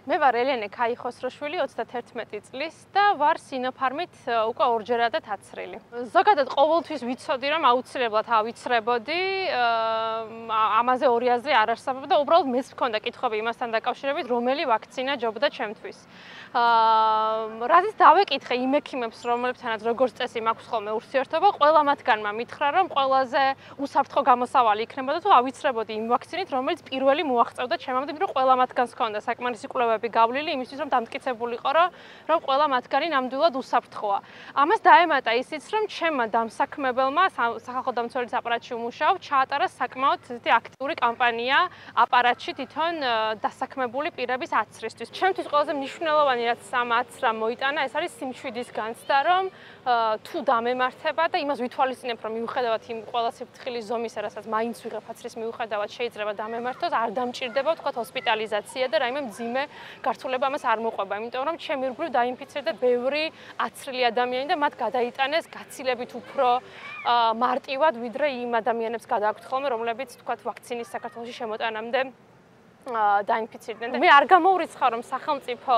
მე ვარ ელენე ქაიხოსროშვილი 31 წლის და ვარ სინოფარმით უკვე ორჯერადად აცრილი. ზოგადად ყოველთვის ვიცოდი რომ აუცილებლად ავიცრებოდი, ამაზე ორი აზრი არ არსებობდა, უბრალოდ მეც მქონდა კითხვები იმასთან დაკავშირებით, რომელი ვაქცინა ჯობდა ჩემთვის. რაზეც დავეკითხე იმ ექიმებს, რომლებთანაც როგორც წესი მაქვს ხოლმე ურთიერთობა, ყველა მათგანმა მითხრა, რომ ყველაზე უსაფრთხო გამოსავალი იქნებოდა თუ ავიცრებოდი იმ ვაქცინით, რომელიც პირველი მოაღწევდა ჩემამდე, იმიტომ რომ ყველა მათგანს ჰქონდა საკმარისი კვლევები გავლილი იმისთვის, რომ დამტკიცებულიყო, რომ ყველა მათგანი ნამდვილად უსაფრთხოა. ამას დაემატა ისიც, რომ ჩემმა დამსაქმებელმა სახალხო დამცველის აპარატში უმუშაობ, ჩაატარა საკმაოდ ესეთი აქტიური კამპანია აპარატში თვითონ დასაქმებული პირების აცრისთვის. ჩემთვის ყველაზე მნიშვნელოვანი რაც ამ აცრამ მოიტანა, ეს არის სიმშვიდის განცდა, რომ თუ დამემართება და იმას ვითვალისწინებ, რომ მიუხედავად იმ ყველა სიფრთხილის ზომისა, რასაც მაინც ვიღებ აცრის მიუხედავად შეიძლება დამემართოს, არ დამჭირდება ვთქვათ ჰოსპიტალიზაცია და რაიმე მძიმე გართულება ამას არ მოყვება, იმიტომ რომ ჩემი რგვლივ დაინფიცირდა ბევრი აცრილი ადამიანი და მათ გადაიტანეს გაცილებით უფრო მარტივად, ვიდრე იმ ადამიანებს გადააქვთ ხოლმე, რომლებიც ვთქვათ ვაქცინის საქართველოში შემოტანამდე დაინფიცირდნენ. მე არ გამოურიცხავ, რომ სახელმწიფო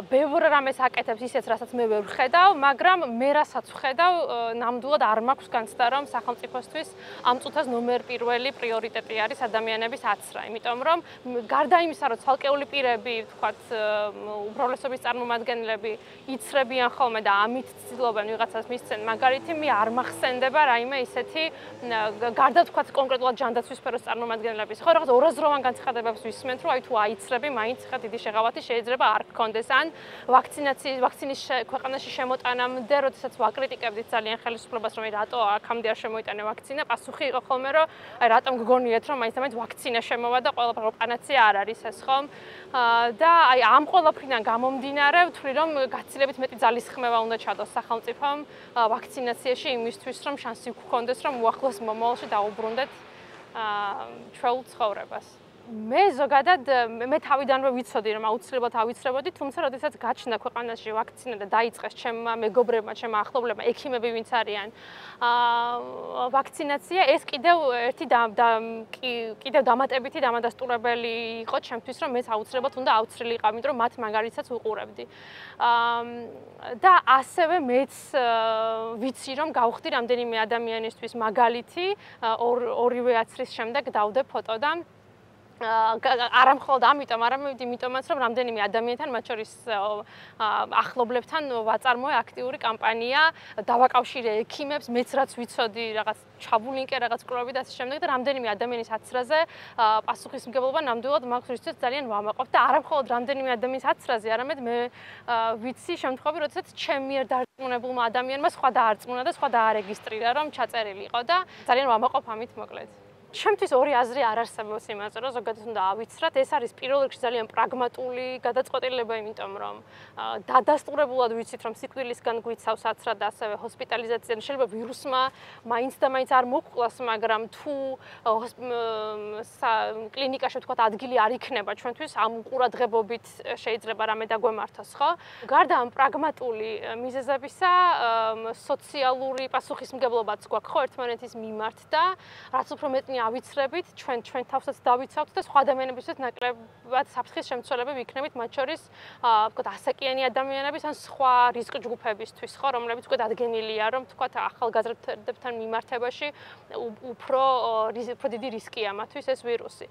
ბევრ რამეს აკეთებს ისეც, რასაც მე ვერ ვხედავ, მაგრამ მე რასაც ვხედავ, ნამდვილად არ მაქვს განცდა, რომ სახელმწიფოსთვის ამ წუთას ნომერ პირველი პრიორიტეტი არის ადამიანების აცრა, იმიტომ რომ გარდა იმისა, რომ ცალკეული პირები, ვთქვათ, უმრავლესობის წარმომადგენლები იცრებიან ხოლმე და ამით ცდილობენ ვიღაცას მისცენ, მაგალითი მე არ მახსენდება რაიმე ისეთი გარდა ვთქვათ კონკრეტულად ჯანდაცვის სფეროს წარმომადგენლების, ხო რაღაც ორაზროვან განცხადებებს ვისმენთ, რომ აი თუ აიცრები, მაინც ხა დიდი შეღავათი შეიძლება არ გქონდეს ან ვაქცინის ქვეყანაში შემოტანამდე, როდესაც ვაკრიტიკებდით ძალიან ხელისუფლებას, რომ რატო აქამდე არ შემოიტანა ვაქცინა, პასუხი იყო ხოლმე, რომ აი რატომ გგონიათ, რომ მაინც ვაქცინა შემოვა და ყველა პანაცეა არ არის ეს ხომ? და აი ამ ყველაფრიდან გამომდინარე, ვთვლი რომ გაცილებით მეტი ძალისხმევა უნდა ჩადოს სახელმწიფომ ვაქცინაციაში იმისთვის, რომ შანსი გქონდეს, რომ უახლოს მომავალში დაუბრუნდეთ ჩვეულ ცხოვრებას. მე ზოგადად მე თავიდანვე ვიცოდი რომ აუცილებლად ავიცრებოდი, თუმცა როდესაც გაჩნდა ქვეყანაში ვაქცინა და დაიწყეს ჩემმა მეგობრებმა, ჩემმა ახლობლებმა, ექიმები ვინც არიან, ვაქცინაცია, ეს კიდევ ერთი კიდევ დამატებითი დამადასტურებელი იყო ჩემთვის, რომ მეც აუცილებლად უნდა ავცრილიყავ, იმიტომ რომ მათ მაგალითსაც ვუყურებდი. და ასევე მეც ვიცი რომ გავხდი რამდენიმე ადამიანისთვის მაგალითი, ორივე აცრის შემდეგ დავდე ფოტო და არა მხოლოდ ამიტომ, არამედ იმიტომაც, რომ რამდენიმე ადამიანთან, მათ შორის ახლობლებთან ვაწარმოე აქტიური კამპანია, დავაკავშირე ექიმებს, მეც რაც ვიცოდი, რაღაც ჩავულინკე რაღაც კვლევები და ასე შემდეგ და რამდენიმე ადამიანის აცრაზე პასუხისმგებლობა ნამდვილად მაქვს, რითაც ძალიან ვამაყობ და არა მხოლოდ რამდენიმე ადამიანის აცრაზე, არამედ მე ვიცი შემთხვევები, როდესაც ჩემ მიერ დარწმუნებულმა ადამიანმა სხვა დაარწმუნა და სხვა დაარეგისტრირა, რომ ჩაწერილი იყო და ძალიან ვამაყობ ამით მოკლედ. ჩემთვის ორი აზრი არ არსებობს იმაზე, რომ ზოგადად უნდა ავიცრათ. ეს არის პირველ რიგში ძალიან პრაგმატული გადაწყვეტილება, იმიტომ რომ დადასტურებულად ვიცით, რომ სიკვდილისგან გვიცავს აცრა და ასევე ჰოსპიტალიზაცია. შეიძლება ვირუსმა მაინც და მაინც არ მოგკლას, მაგრამ თუ კლინიკაში ვთქვათ ადგილი არ იქნება ჩვენთვის, ამ ყურადღებობით შეიძლება რამე დაგვემართოს, ხო? გარდა ამ პრაგმატული მიზეზებისა, სოციალური პასუხისმგებლობაც გვაქვს ხო ერთმანეთის მიმართ და რაც უფრო მეტი ავიცრებით, ჩვენ თავსაც დავიცავთ და სხვა ადამიანებისთვის ნაკლებად საფრთხის შემცველები ვიქნებით, მათ შორის ვთქვათ ასაკიანი ადამიანების ან სხვა რისკ ჯგუფებისთვის, ხო, რომლებიც უკვე დადგენილია, რომ ვთქვათ ახალგაზრდებთან მიმართებაში უფრო დიდი რისკია მათთვის ეს ვირუსი.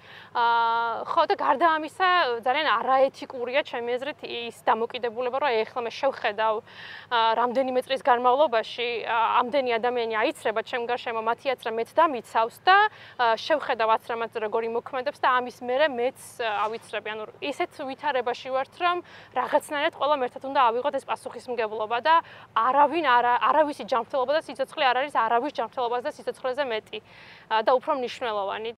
ხო და გარდა ამისა, ძალიან არაეთიკურია ჩემი აზრით ის დამოკიდებულება, რომ ეხლა მე შევხედავ რამდენიმე წლის განმავლობაში ამდენი ადამიანი აიცრება ჩემ გარშემო, მათი აცრა მეც დამიცავს და შევხედავ აცრამაც როგორი მოქმედებს და ამის მერე მეც ავიცრები. ანუ ისეთ ვითარებაში ვართ, რომ რაღაცნაირად ყველამ ერთად უნდა ავიღოთ ეს პასუხისმგებლობა და არავისი ჯანმრთელობა და სიცოცხლე არ არის არავის ჯანმრთელობაზე და სიცოცხლეზე მეტი და უფრო მნიშვნელოვანი.